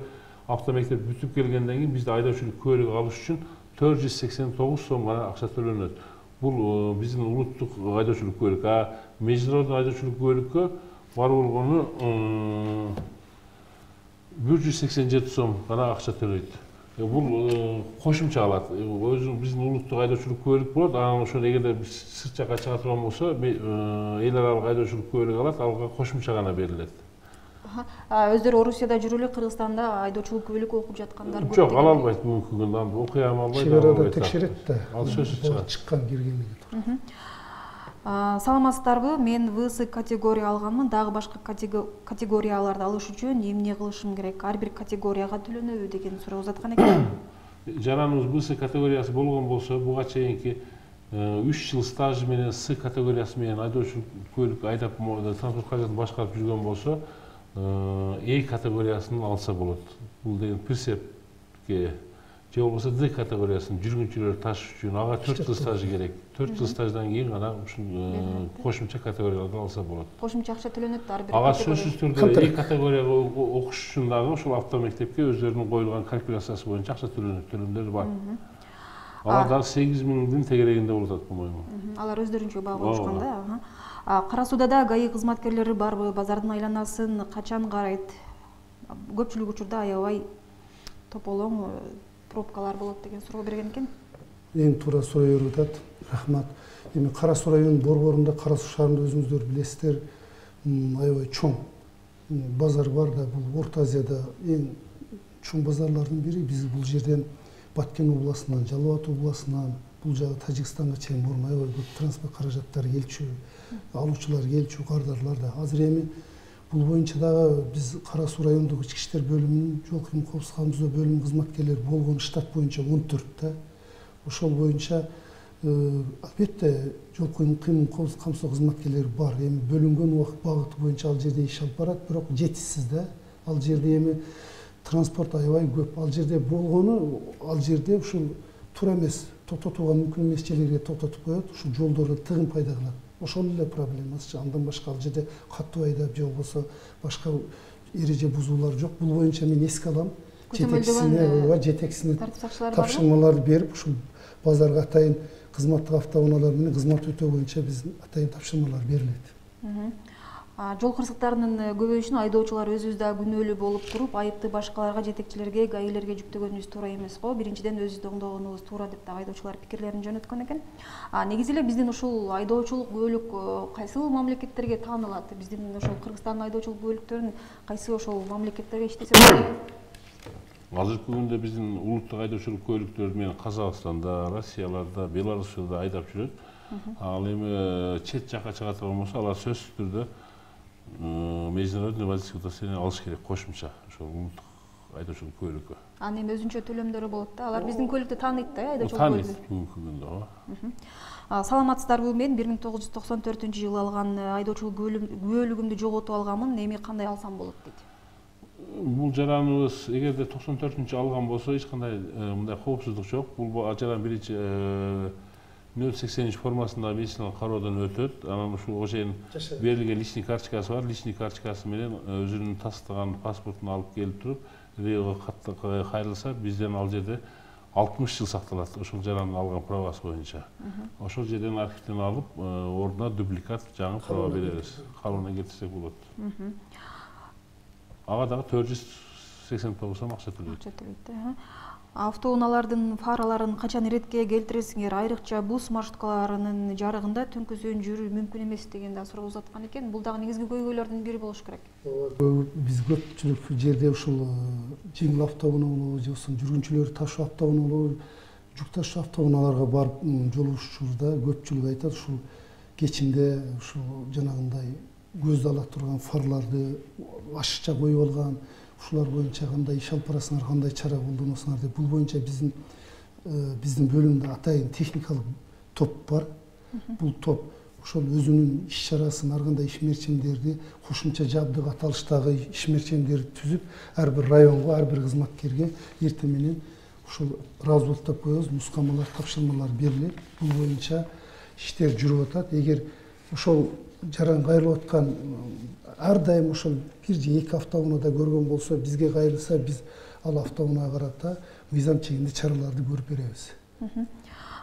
автомектеп бүтүп келгенден кийин бизде айдоочулук көлүк алыш үчүн 489 сом гана акча төлөнөт. Бул биздин улуттук айдоочулук көлүк. Международный айдоочулук көлүккө бар болгону 187 сом гана акча төлөйт. Бул кошумча алат. Өзү биздин улуттук айдоочулук көлүк болот. Анан ошол эгерде сырт жакка чыга турган болсо, эл аралык айдоочулук көлүк алат, алга кошумча гана берилет. Өздөрү Орусияда жүрүп эле, Кыргызстанда айдоочулук көлүк окуп жаткандар көп. Жок, ала албайт бүгүнкү күндө. Аны окуй албайт. Чек арада текшерет да. Ал сөзсүз чыгат. Чыккан киргенге. Саламатсыздарбы? Мен ВС категория алганмын. Дагы башка категорияларды алыш үчүн эмне кылышым керек? Ар бир категорияга төлөнөбү деген суроо узаткан экен. Жараныбыз ВС категориясы болгон болсо, буга чейинки 3 жыл стажы менен С категориясы менен айдоочулук көлүк айдап транспорт каражатын башкарып жүргөн болсо, E категориясын алса болот. Бул деген прицепке же болбосо D категориясын жүргүнчүлөр ташыш үчүн ага 4 жыл стажы керек. 4 жыл стаждан кийин гана ушул кошумча категорияларды алса болот. Кошумча акча төлөнөт ар бир. Ага сөзсүз түрдө E категорияга окуш үчүн дагы ушул автомектепке өздөрүнүн коюлган калькуляциясы боюнча акча төлөнөт, төлөмдөр бар. Алар дагы 8 миңдин тегерегинде болуп атат, по-моему. Алар өздөрүнчө баа коюшкан да. Кара Сууда ГАИ кызматкерлери барбы? Базардын айланасын качан карайт? Көпчүлүк учурда аябай тополоң пробкалар болот деген суроо берген экен. Эң туура суроо берип атат. Рахмат. Эми Кара Суу районунун борборунда, Кара Суу шаарында өзүңүздөр билесиздер, аябай чоң базар бар да. Бул Орто Азияда эң чоң базарлардын бири. Биз бул жерден Баткен областынан, Жалал Абад областынан, бул жагы Тажикстанга чейин бурмай көп транспорт каражаттары келчү, алуучулар келчү, кардарлар да. Азыр эми бул боюнча дагы биз Кара Суу райондук ички иштер бөлүмүнүн жол кыймыл коопсуздук камсыздоо бөлүмүнүн кызматкерлери болгон штат боюнча 14 да. Ошол боюнча албетте жол кыймыл коопсуздук камсыздоо кызматкерлери бар. Эми бөлүнгөн убакыт багыты боюнча ал жерде иш алып барат, бирок жетишсиз да. Ал жерде эми транспорт аябай көп. Ал жерде болгону, ал жерде ушул туура эмес, токтотууга мүмкүн эмес жерлерге токтотуп коет, ушул жолдордо тыгын пайда кылат. Ошол эле проблемасы. Андан башка ал жерде катуу айдап же болбосо башка эреже бузуулар жок. Бул боюнча мен эске алам. Жетекчисине тапшырмаларды берип, ушул базарга атайын кызматтык автоунаалар менен кызмат өтөө боюнча биз атайын тапшырмалар берилет. Жол кырсыктарынын көбөйүшүнө айдоочулар өзүбүз да күнөөлүү болуп туруп, айыпты башкаларга, жетекчилерге, ГАИлерге жүктөгөнүбүз туура эмес го. Биринчиден өзүбүздү оңдогонубуз туура деп дагы айдоочулар пикирлерин жөнөткөн экен. Негизи эле биздин ушул айдоочулук көлүк кайсыл мамлекеттерге таанылат? Биздин ошол Кыргызстандын айдоочулук көлүктөрүн кайсы ошол мамлекеттерге иштесе болот? Азыркы күндө биздин улуттук айдоочулук көлүктөр менен Казакстанда, Россияларда, Беларусьта айдап жүрөт. Ал эми чет жакка чыга турган болсо, алар сөзсүз түрдө международный водительский удостоверение алыш керек кошумча ошол улуттук айдоочулук көлүккө. Анын эми өзүнчө төлөмдөрү болот да. Алар биздин көлүктү тааныйт да, айдоочулук көлүктү. Тааныйт бүгүнкү күндө. Саламатсыздарбы? Мен 1994-жылы алган айдоочулук күбөлүгүмдү жоготуп алганмын. Эми кандай алсам болот дейт. Бул жараныбыз эгерде 94-жылы алган болсо эч кандай мындай коопсуздук жок. Бул жаран биринчи 080 формасында медициналык кароодон өтөт. Анан ушул ошен берилген личный карточкасы бар. Личный карточкасы менен өзүнүн тастыган паспортун алып келип туруп, Риого кайрылса, бизден ал жерде 60 жыл сакталат, ошол жарандын алган пробасы боюнча. Ошол жерден архивден алып, ордуна дубликат жаңы проба беребиз. Калыбына келтирсек болот. Ага дагы 489 сом акча төлөйт. Автоунаалардын фараларын качан иретке келтиресиңер? Айрыкча бус маршруткаларынын жарыгында түнкүсүн жүрүү мүмкүн эмес деген да суроо узаткан экен. Бул дагы негизги көйгөйлөрдүн бири болуш керек. Биз көпчүлүк жерде ушул жеңил автоунаалуу же болбосо жүргүнчүлөр ташуу автоунаалуу, жүк ташуу автоунааларга барып жолугушуучубузда көпчүлүк айтат, ушул кечинде ушул жанагындай көздү ала турган фарларды ашыкча коюп алган, ушулар боюнча кандай иш алып барасыңар, кандай чара колдоносуңар деп. Бул боюнча биздин бөлүмдө атайын техникалык топ бар. Бул топ ошол өзүнүн иш чарасын, ар кандай ишмерчимдерди, кошумча жабдык аталыштагы ишмерчимдерди түзүп, ар бир районго, ар бир кызматкерге эртең менен ушул разводдоп коебуз, нускамалар, тапшырмалар берилет. Бул боюнча иштер жүрүп атат. Эгер ошол жаран кайрылып аткан ар дайым ошол бир же эки автоунаада көргөн болсо, бизге кайрылса, биз ал автоунаага карата мыйзам чегинде чараларды көрүп беребиз.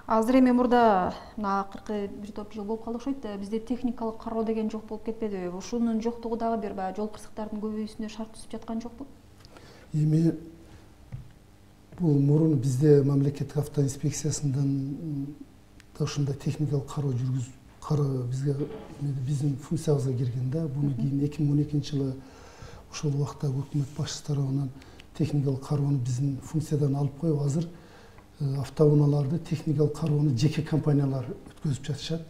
Азыр эми мурда акыркы бир топ жыл болуп калды окшойт. Бизде техникалык кароо деген жок болуп кетпедиби? Ушунун жоктугу дагы бир баягы жол кырсыктардын көбөйүүсүнө шарт түзүп жаткан жокпу? Эми бул мурун бизде мамлекеттик автоинспекциясынан да ушундай техникалык кароо бизге биздин функциябызга кирген да. Буну кийин 2012-жылы ошол убакта өкмөт башчысы тарабынан техникалык кароону биздин функциядан алып коюп, азыр автоунааларды техникалык кароону жеке компаниялар өткөзүп жатышат.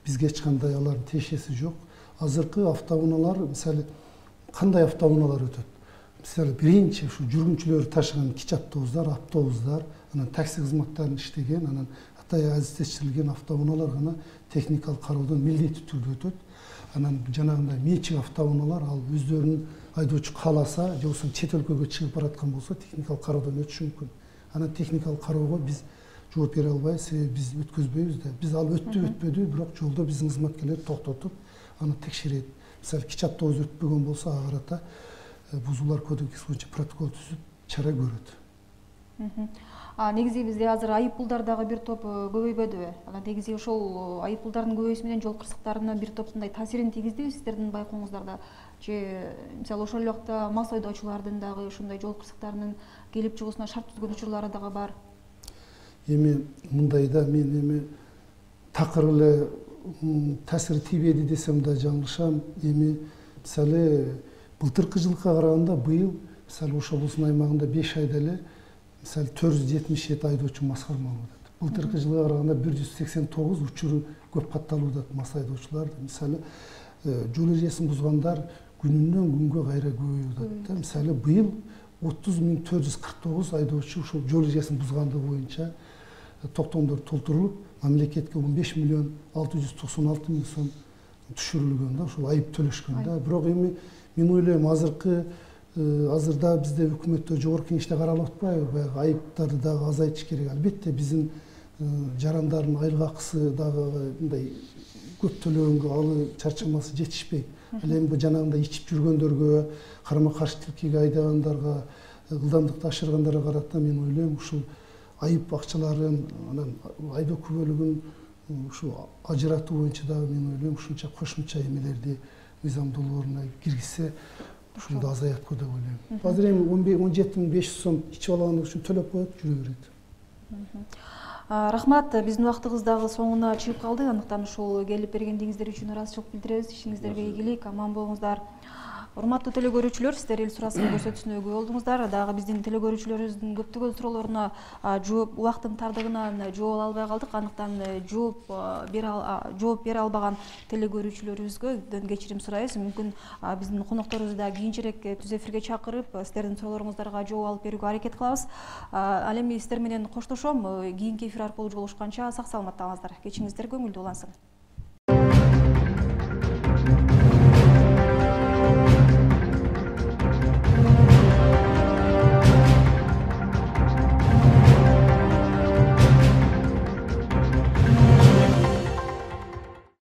Бизге эч кандай алардын тиешеси жок. Азыркы автоунаалар, мисалы, кандай автоунаалар өтөт? Мисалы, биринчи ушу жүргүнчүлөр ташыган кичи автобустар, анан такси кызматтарын иштеген, анан азистештирилген автоунаалар гана техникалык кароодон милдеттүү түрдө өтөт. Анан жанагындай менчик автоунаалар ал өздөрүнүн айдоочу кааласа, же болбосо чет өлкөгө чыгып бараткан болсо, техникалык кароодон өтүшү мүмкүн. Анан техникалык кароого биз жооп бере албайбыз, себеби биз өткөзбөйбүз да. Биз ал өттү, бирок жолдо биздин кызматкерлер токтотуп, аны текшерет. Мисалы, кичи автобус өтпөгөн болсо, ага карата бузуулар кодексинин боюнча протокол түзүп, чара көрөт. Негизи бизде азыр айып пулдар дагы бир топ көбөйбөдүбү? Негизи ошол айып пулдардын көбөйүүсү менен жол кырсыктарына бир топ таасирин тийгиздиби сиздердин байкооңуздарда? Же мисалы ошол убакта мас айдоочулардын дагы ушундай жол кырсыктарынын келип чыгуусуна шарт түзгөн учурлары дагы бар? Эми мындай да, мен эми такыр эле таасири тийбеди десем да жаңылышам. Эми мисалы былтыркы жылга караганда быйыл мисалы Ош облусунун аймагында 5 айда эле мисалы 477 айдоочу мас кармалып атат. Былтыркы жылга караганда 189 учуру көп катталууда мас айдоочулар. Мисалы жол эрежесин бузгандар күнүнөн күнгө кайра көбөйүп атат. Мисалы быйыл 30.449 айдоочу ушул жол эрежесин бузгандыгы боюнча токтомдор толтурулуп, мамлекетке 15.696.000 сом түшүрүлгөн да, ушул айып төлөшкөн да. Бирок эми мен ойлойм, азырда бизде өкмөттө жогорку кеңеште каралып атпайбы, баягы айыптарды дагы азайтыш керек. Албетте биздин жарандардын айлык акысы дагы мындай көп төлөгөнгө алы чарчамасы жетишпейт. Ал эми жанагындай ичип жүргөндөргө, карама каршы тилкеге айдагандарга, ылдамдыкты ашыргандарга карата мен ойлойм, ушул айып акчаларын, анан айдоо күбөлүгүн ушу ажыратуу боюнча дагы мен ойлойм, ушунча кошумча эмелерди мыйзам долбооруна киргизсе, ушунда азаят го деп ойлойм. Азыр эми 17.500 сом ичип алган үчүн төлөп коет, жүрө берет. Рахмат, биздин убактыбыз дагы соңуна чыгып калды. Андыктан ушул келип бергендигиңиздер үчүн ыраазычылык билдиребиз. Ишиңиздерге ийгилик, аман болуңуздар. Урматтуу телекөрүүчүлөр, сиздер эл сурасын көрсөтүүсүнө күбө болдуңуздар. Дагы биздин телекөрүүчүлөрүбүздүн көптөгөн суроолоруна жооп убакыттын тардыгынан жооп албай калдык. Андыктан жооп бере албаган телекөрүүчүлөрүбүзгө кечирим сурайбыз. Мүмкүн биздин конокторубузду да кийинчерээк түз эфирге чакырып, сиздердин суроолоруңуздарга жооп алып берүүгө аракет кылабыз. Ал эми сиздер менен коштошом. Кийинки эфир аркылуу жолугушканча сак саламатта калыңыздар. Кечиңиздер көңүлдүү улансын.